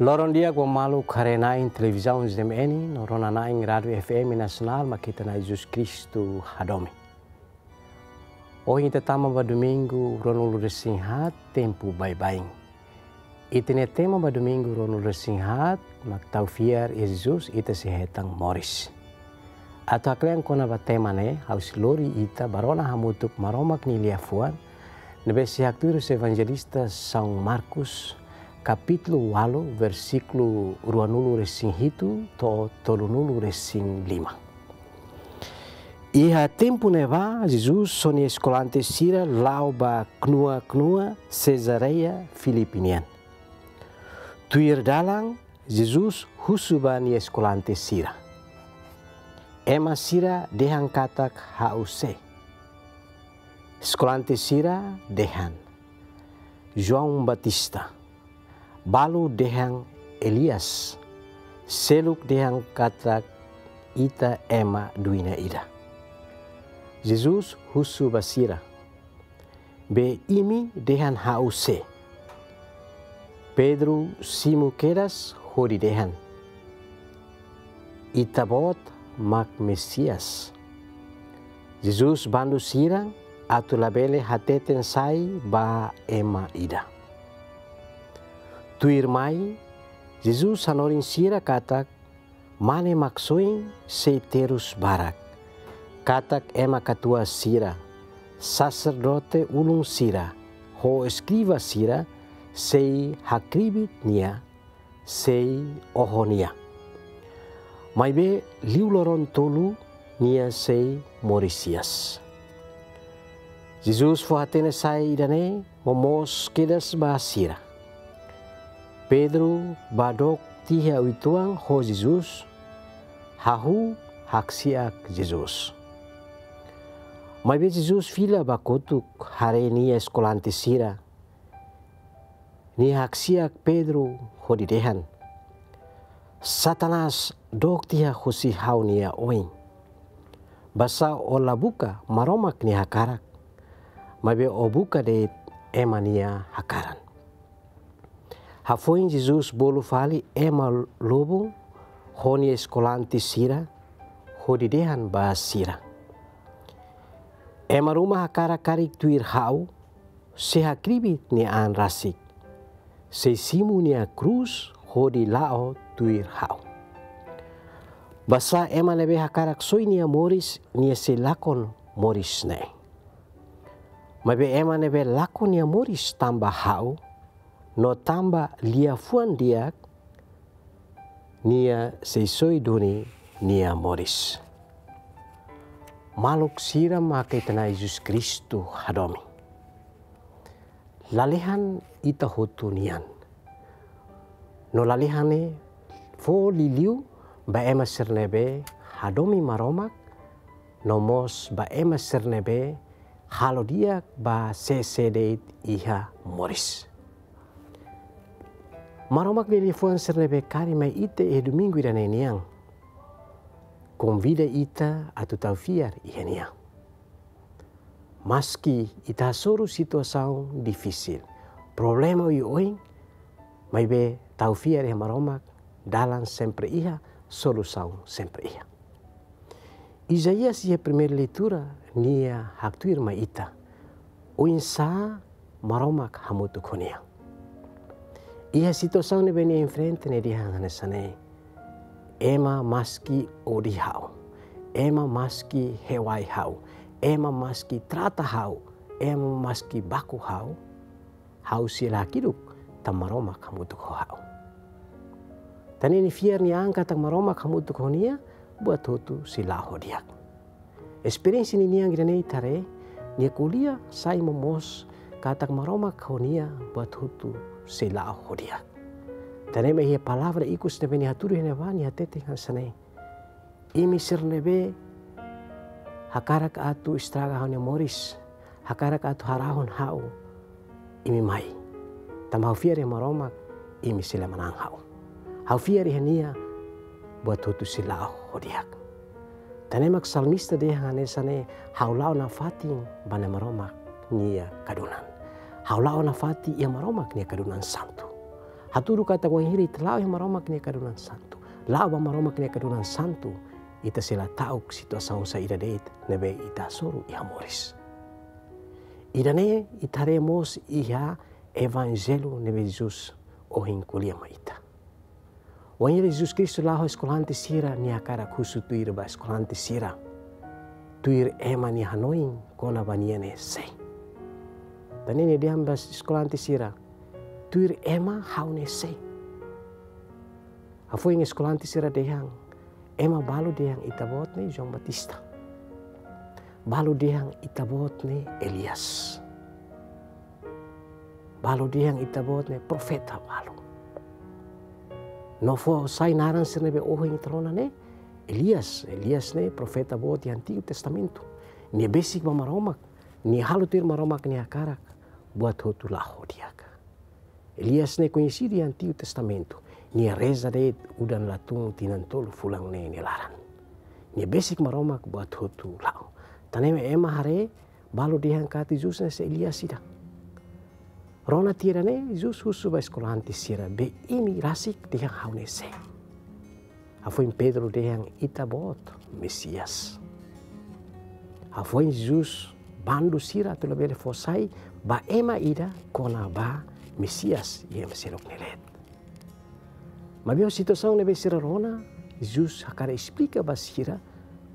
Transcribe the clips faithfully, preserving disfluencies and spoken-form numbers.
Loron di'ak ba maluk haree-na'in televizaun Z M N no rona-na'in Rádiu F M Nasionál mak ita-nia Na'i Jesus Kristu hadomi. Ohin ita tama ba domingu ruanulu-resin-haat tempu baibain. Ita-nia tema ba domingu ruanulu-resin-haat mak tau fiar iha Jesus ita sei hetan moris. Atu haklean kona-ba tema ne'e, ha'u sei lori ita ba rona hamutuk Maromak nia liafuan ne'ebé sei haktuir husi Evanjelista São Marcos, kapítulu ualu, versíkulu ruanulu-resin-hitu to'o tolunulu-resin-lima. Iha tempu ne'ebá, Jesus ho nia eskolante sira la'o ba knua-knua Cesareia Filipi nian. Tuir dalan, Jesus husu ba nia eskolante sira: "Ema sira dehan katak ha'u sé?" Eskolante sira dehan: "João Batista." Balu dehan: "Elias." Seluk dehan katak: "Ita ema duina ida." Jesus husu ba sira: "Be imi dehan ha'u sé?" Pedro simu kedas hodi dehan: "Ita-Boot mak Mesias." Jesus bandu sira atu labele hateten sai ba ema ida. Tuirmai, Jesus hanorin sira katak mane-maksoin sei terus barak, katak ema katuas sira, saserdote ulun sira, ho eskriva sira sei hakribi nia, sei oho nia. Maibé liu loron tolu nia sei moris hi'as. Jesus fó-hatene sai ida-ne'e momoos kedas ba sira. Pedro bá dook tiha uitoan ho Jesus, hahú haksi'ak Jesus. Maibé Jesus fila ba kotuk haree nia eskolante sira. Nia haksi'ak Pedro hodi dehan: "Satanás, dook tiha husi ha'u-nia oin. Basá ó la buka Maromak nia hakarak, maibé ó buka de'it ema nia hakaran." Hafoin Jesus bolu fali ema lubun ho nia eskolante sira hodi dehan ba sira: "Ema ruma hakarak karik tuir ha'u, sei hakribi nia an rasik, sei simu nia krús hodi la'o tuir ha'u. Basá ema ne'ebé hakarak soi nia moris, nia sei lakon moris ne'e. Maibé ema ne'ebé lakon nia moris tanba ha'u, no tanba liafuan di'ak, nia sei soi duni nia moris." Maluk sira mak ita-nia Na'i Jesus Kristu hadomi. Lalehan ita hotu nian. No lalehan ne'e fó liuliu ba ema sira ne'ebé hadomi Maromak, no mós ba ema sira ne'ebé halo di'ak ba sé-sé de'it iha moris. Maromak nia liafuan sira ne'ebé kaer mai ita iha domingu ida-ne'e nian konvida ita atu tau fiar iha nia. Maski ita hasoru situasaun difisil, problema oioin, maibé tau fiar iha Maromak, dalan sempre iha, solusaun sempre iha. Isaías iha primeira leitura nia haktuir mai ita oinsá Maromak hamutuk ho nia. Iha situasaun ne'ebé nia enfrenta, nia dehan hanesan ne'e: "Ema maski odi ha'u, ema maski hewai ha'u, ema maski trata ha'u, ema maski baku ha'u, ha'u sei la hakiduk tanba Maromak hamutuk ho ha'u." Tan ne'e nia fiar nia an katak Maromak hamutuk ho nia, buat hotu sei la'o ho di'ak. Esperiénsia ninian ida-ne'e ita haree, nia ko'alia sai momoos katak Maromak ho nia, buat hotu sei la'o ho di'ak. Tan ne'e mak iha palavra ikus ne'ebé nia hatudu iha ne'ebá, nia hateten hanesan ne'e: "Imi sira ne'ebé hakarak atu estraga ha'u-nia moris, hakarak atu harahun ha'u, imi mai. Tanba ha'u fiar iha Maromak, imi sei la manán ha'u. Ha'u fiar iha nia, buat hotu sei la'o ho di'ak." Tan ne'e mak salmista dehan hanesan ne'e: "Ha'u la'o nafatin ba Na'i Maromak nia kadunan. Ha'u la'o nafatin iha Maromak nia kadunan santu. Hatudu katak wainhira ita la'o iha Maromak nia kadunan santu, la'o ba Maromak nia kadunan santu, ita sei la ta'uk situasaun saida de'it ne'ebé ita hasoru iha moris. Ida-ne'e ita haree mós iha Evanjellu ne'ebé Jesus ohin ko'alia mai ita. Wainhira Jesus Kristu la'o ho eskolante sira, nia hakarak husu tuir ba eskolante sira, tuir ema nia hanoin kona-ba nia ne'e sé. Tan ne'e nia dehan ba eskolante sira, tuir ema ha'u ne'e sé. Hafoin eskolante sira dehan, ema balu dehan ita-boot ne'e João Batista. Balu dehan ita-boot ne'e Elias. Balu dehan ita-boot ne'e profeta balu. No fó sai naran sira ne'ebé ohin ita rona ne'e Elias. Elias ne'e profeta boot iha Antigu Testamentu. Nia besik ba Maromak, nia halo tuir Maromak nia hakarak buat hotu la'o ho di'ak. Elias ne'e koñesidu iha Antigu Testamentu. Nia reza de'it udan latun tinan tolu fulan neen nia laran. Nia besik Maromak buat hotu la'o. Tan ne'e ema haree, balu dehan katak Jesus ne'e sé Elias ida. Rona tiha ida-ne'e, Jesus husu ba eskolante sira, be imi rasik dehan ha'u ne'e sé? Hafoin Pedro dehan, ita-boot Mesias. Hafoin Jesus bandu sira atu labele fó sai ba ema ida kona-ba Mesias, iha ema seluk nia leet. Maibé ho situasaun ne'ebé sira rona, Jesus hakarak esplika ba sira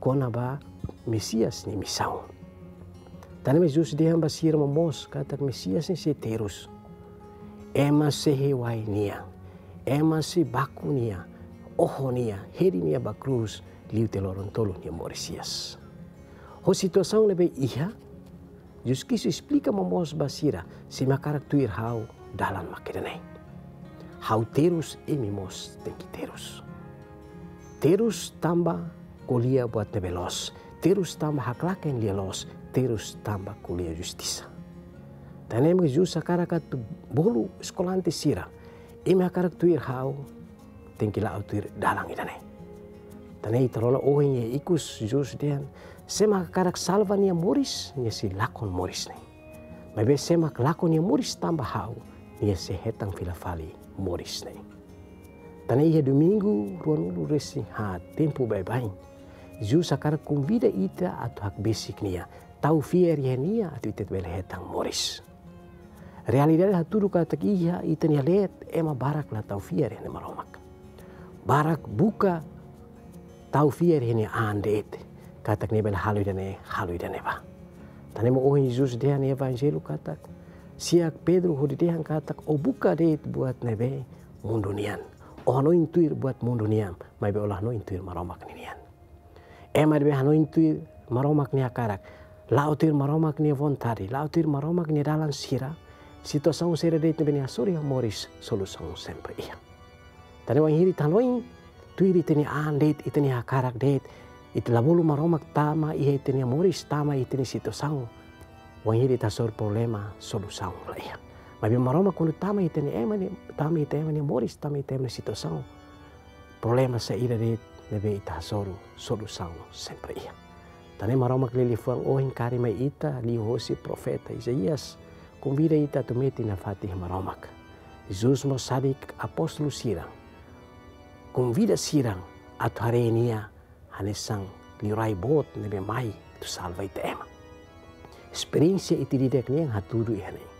kona-ba Mesias nia misaun. Tan ne'e Jesus dehan ba sira momoos katak Mesias ne'e sei terus. Ema sei hewai nia, ema sei baku nia, oho nia, hedi nia ba krús, liu tiha loron tolu nia moris hi'as. Ho situasaun ne'ebé iha, Jesus Kristu esplika momoos ba sira, se imi hakarak tuir ha'u, dalan mak ida-ne'e. Ha'u terus, imi mós tenke terus. Terus tanba ko'alia buat ne'ebé loos, terus tanba haklaken lia-loos, terus tanba ko'alia justisa. Tan ne'e Jesus hakarak atu bolu eskolante sira, imi hakarak tuir ha'u, tenke la'o tuir dalan ida-ne'e. Tan ne'e ita rona ohin iha ikus Jesus dehan, sé mak hakarak salva nia moris, nia sei lakon moris ne'e. Maibé sé mak lakon nia moris tanba ha'u, nia sei hetan fila fali moris ne'e. Tan ne'e iha domingu ruanulu-resin-haat tempu baibain, Jesus hakarak konvida ita atu hakbesik nia, tau fiar iha nia atu ita bele hetan moris. Realidade hatudu katak iha ita-nia leet ema barak la tau fiar iha Maromak. Barak buka tau fiar iha nia an de'it, katak nia bele halo ida-ne'e, halo ida-ne'ebá. Tan ne'e mak ohin Jesus dehan iha Evanjellu katak, siak Pedro hodi dehan katak, ó buka de'it buat ne'ebé mundu nian. Ó hanoin tuir buat mundu nian, maibé ó la hanoin tuir Maromak ninian. Ema ne'ebé hanoin tuir Maromak nia hakarak, la'o tuir Maromak nia vontade, la'o tuir Maromak nia dalan sira, situasaun saida de'it ne'ebé nia hasoru iha moris, solusaun sempre iha. Tan ne'e wainhira ita hanoin tuir ita-nia an de'it, ita-nia hakarak de'it, ita la bolu Maromak tama iha ita-nia moris, tama iha ita-nia situasaun. Wainhira ita hasoru problema, solusaun la iha. Maibé Maromak kuandu tama iha ita-nia ema nia, tama iha ita ema nia moris, tama iha ita ema nia situasaun, problema saida de'it ne'ebé ita hasoru, solusaun sempre iha. Tan ne'e Maromak nia liafuan ohin kaer mai ita liuhosi profeta Isaías, konvida ita atu metin nafatin iha Maromak. Jesus mós harii apóstolu sira, konvida sira atu haree nia hanesan liurai boot ne'ebé mai atu salva ita ema. Esperiénsia ita ida-idak nian hatudu iha ne'e.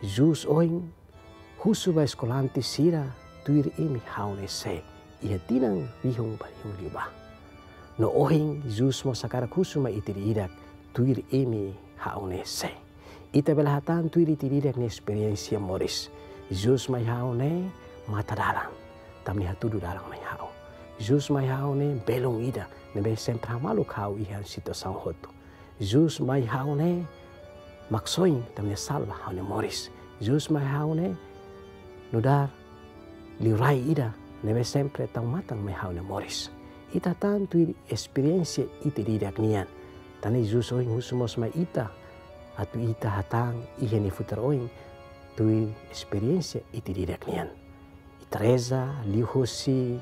Jesus ohin husu ba eskolante sira, tuir imi ha'u ne'e sé, iha tinan rihun ba rihun liubá. No ohin Jesus mós hakarak husu mai ita ida-idak, tuir imi ha'u ne'e sé. Ita bele hatán tuir ita ida-idak nia esperiénsia moris. Jesus mai ha'u ne'e matadalan, tanba nia hatudu dalan mai ha'u. Jesus mai ha'u ne'e belun ida ne'ebé sempre hamaluk ha'u iha situasaun hotu. Jesus mai ha'u ne'e Maksoin tanba nia salva ha'u-nia moris. Jesus mai ha'u ne'e nu'udar liurai ida ne'ebé sempre tau matan mai ha'u-nia moris. Ita hatán tuir esperiénsia ita ida-idak nian. Tan ne'e Jesus ohin husu mós mai ita, atu ita hatán iha nia futar oin tuir esperiénsia ita ida-idak nian. Ita reza, liuhosi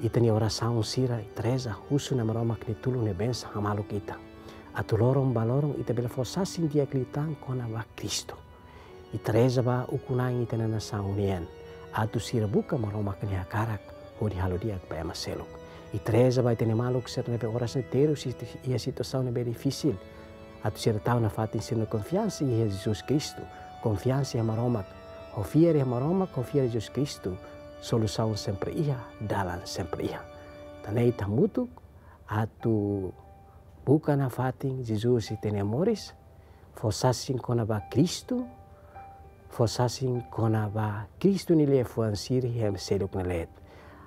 ita-nia orasaun sira, ita reza, husu Na'i Maromak nia tulun, nia bensaun hamaluk ita. Atu loron ba loron ita bele fó sasin di'ak liután kona-ba Kristu. Ita reza ba ukun-na'in ita-nia nasaun nian, atu sira buka Maromak nia hakarak hodi halo di'ak ba ema seluk. Ita reza ba ita-nia maluk sira ne'ebé oras ne'e terus iha situasaun ne'ebé difisil, atu sira tau nafatin sira-nia konfiansa iha Jesus Kristu, konfiansa iha Maromak, ho fiar iha Maromak, ho fiar iha Jesus Kristu, solusaun sempre iha, dalan sempre iha. Tan ne'e ita hamutuk atu buka nafatin Jesus ita-nia moris, fó sasin kona-ba Kristu, fó sasin kona-ba Kristu nia liafuan sira iha ema seluk nia leet.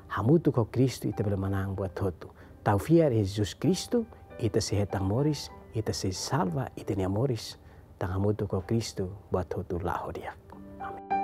Hamutuk ho Kristu ita bele manán buat hotu. Tau fiar iha Jesus Kristu, ita sei hetan moris, ita sei salva ita-nia moris. Tan hamutuk ho Kristu buat hotu la'o di'ak. Amen.